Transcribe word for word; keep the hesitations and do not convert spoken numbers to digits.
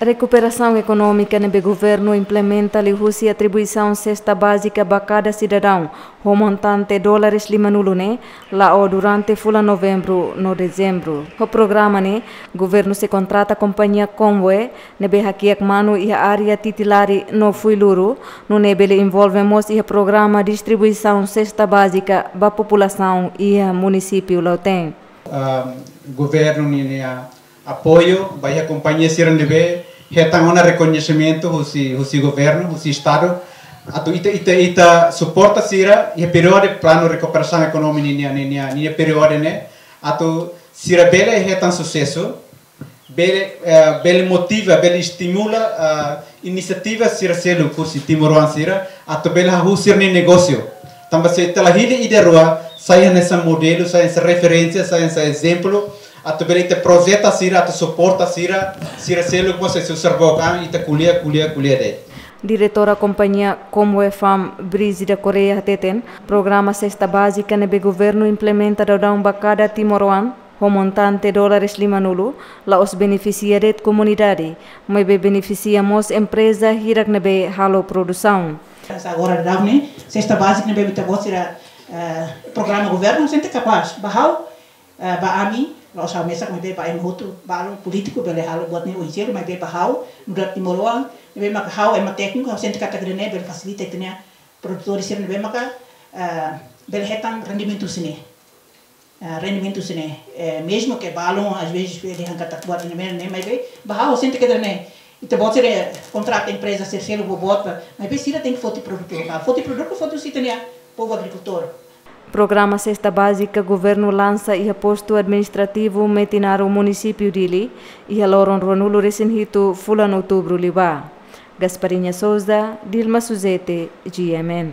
Rekuperasaun ekonómika ne'ebé governu implementa liuhusi atribuisaun sesta bázika ba kada sidadaun ho montante dólares limanulu ne'e la'o durante fulan Novembru no Dezembru. Ho programa ne'e, governu sei kontrata kompañia Convoy ne'ebé hakiak manu iha área Titilari no Fuiluru, nune'e bele envolve mós iha programa distribuisaun sesta bázika ba populasaun iha munisípiu Lautém. Ah, governu ninia apoiu ba iha kompañia sira ne'ebé hetan ona rekoñesimentu husi, husi governu, husi estadu. Atu ita, ita, ita suporta sira iha períodu planu rekuperasaun ekonómika ninia, ninia, ninia períodu ne'e. Atu sira bele hetan susesu, bele, eh, bele motiva, bele estimula, ah, inisiativa sira seluk husi timoroan sira, atu bele hahú sira-nia negósiu. Tanba se ita la hili ida rua, sai hanesan modelu, sai hanesan referénsia, sai hanesan ezemplu, atu bele ita projeta sira, atu suporta sira, sira seluk mós sei susar book an, ita ko'alia, ko'alia, ko'alia de'it. Diretora kompañia Convoy Farm, Brígida Correia hateten, programa sesta bázika ne'ebé governu implementa daudaun ba kada timoroan ho montante dólares limanulu, la'ós benefisia de'it komunidade, maibé benefisia mós empreza hirak ne'ebé halo produsaun. Agora daudaun ne'e, sesta bázika ne'ebé ita-boot sira, eh, programa governu sente kapás. Ba ha'u, eh, ba ami, la'ós ha'u mesak, maibé ba ema hotu, balu polítiku bele halo buat ne'e oin seluk, maibé ba ha'u, nu'udar timoroan, ne'ebé maka ha'u ema tékniku, ha'u sente katak ida-ne'e bele fasilita ita-nia produtór sira ne'ebé maka, eh, bele hetan rendimentu sira-ne'e. Ah, rendimentu sira-ne'e, eh, mezmu ke balun, às vezes, bele dehan katak buat ne'e, ne'e, maibé, ba ha'u sente katak ne'e, ita-boot sira kontrata empreza sira seluk boboot, maibé sira tenke foti produtu lokál. Foti produtu, foti husi ita-nia povu agrikultór. Programa sesta bázika governu lansa iha postu administrativu Metinaro, munisípiu Dili, iha loron ruanulu-resin-hitu fulan Outubru liubá. Gasparinha Souza, Dilma Suzete, G M N.